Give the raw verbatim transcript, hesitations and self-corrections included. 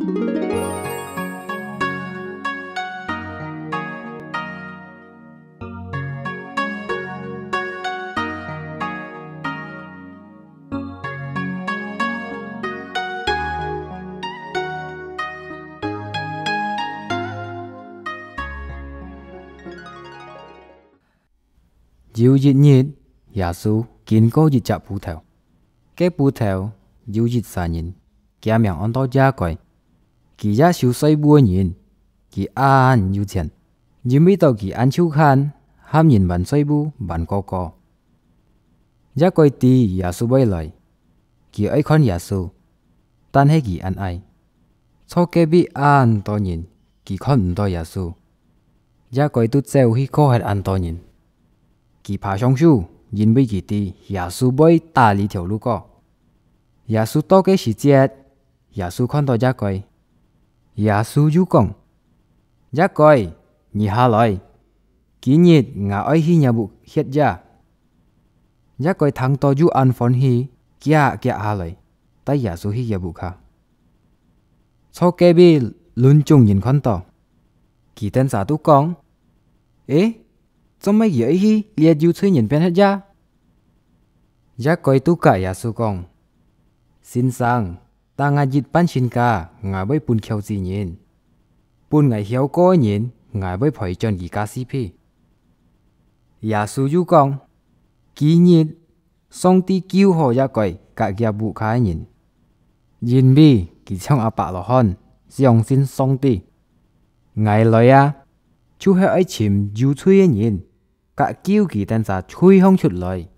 有一日，耶穌經過一隻埔頭，該埔頭有一儕人，厥名安到雅各。佢也收稅務个人，佢恁有錢，因為到佢恁臭閒，喊人還稅務還過過。雅各知耶穌會來，佢愛看耶穌，但係佢恁矮，坐隔壁恁多人，佢看毋到耶穌。雅各就走去過歇恁多人，佢爬上樹，因為佢知耶穌會打這條路過。耶穌到个時節，耶穌看到雅各，耶穌又講：「雅各，你下來，今日𠊎愛去若屋歇夜。」雅各聽到又恁歡喜，遽遽下來，帶耶穌去厥屋下。坐隔壁鄰眾人看到，佢等儕都講：「欸，做麼佢愛去這有罪人片歇夜？」雅各就佮耶穌講：「先生，逐日半千家，𠊎會分虯子人；分𠊎曉過个人，𠊎會賠轉佢價四倍。」耶穌又講：「今日上帝救好雅各佮厥屋下个人，因為佢像亞伯拉罕相信上帝。𠊎來啊，就係愛尋有罪个人，佮救佢等儕罪項出來。」